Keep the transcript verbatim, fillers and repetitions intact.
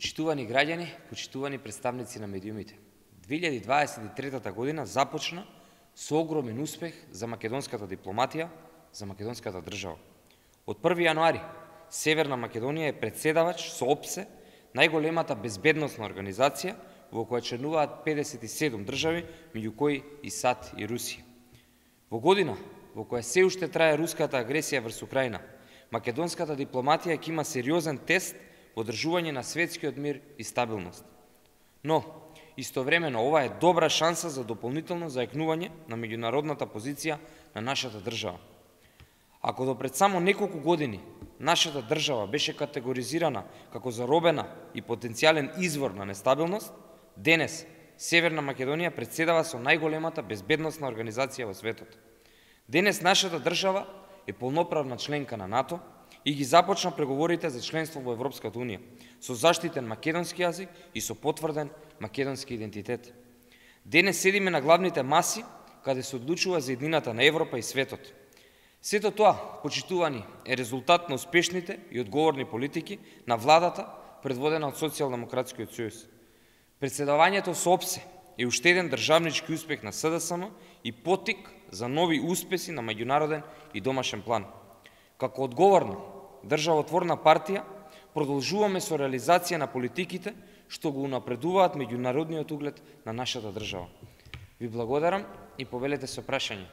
Почитувани граѓани, почитувани представници на медиумите. две илјади дваесет и трета година започна со огромен успех за македонската дипломатија, за македонската држава. Од први јануари Северна Македонија е председавач со ОПСЕ, најголемата безбедносна организација во која членуваат педесет и седум држави, меѓу кои и САД и Русија. Во година во која се уште трае руската агресија врз Украина, македонската дипломатија ќе има сериозен тест во одржување на светскиот мир и стабилност. Но, истовремено, ова е добра шанса за дополнително заекнување на меѓународната позиција на нашата држава. Ако до пред само неколку години нашата држава беше категоризирана како заробена и потенцијален извор на нестабилност, денес Северна Македонија председава со најголемата безбедносна организација во светот. Денес нашата држава е полноправна членка на НАТО и ги започна преговорите за членство во Европската унија, со заштитен македонски јазик и со потврден македонски идентитет. Денес седиме на главните маси, каде се одлучува за еднината на Европа и светот. Сето тоа, почитувани, е резултат на успешните и одговорни политики на владата, предводена од Социјалдемократскиот сојуз. Председавањето со ОПСЕ е уште еден државнички успех на СДСМ и поттик за нови успеси на меѓународен и домашен план. Како одговорна државотворна партија, продолжуваме со реализација на политиките што го унапредуваат меѓународниот углед на нашата држава. Ви благодарам и повелете со прашање.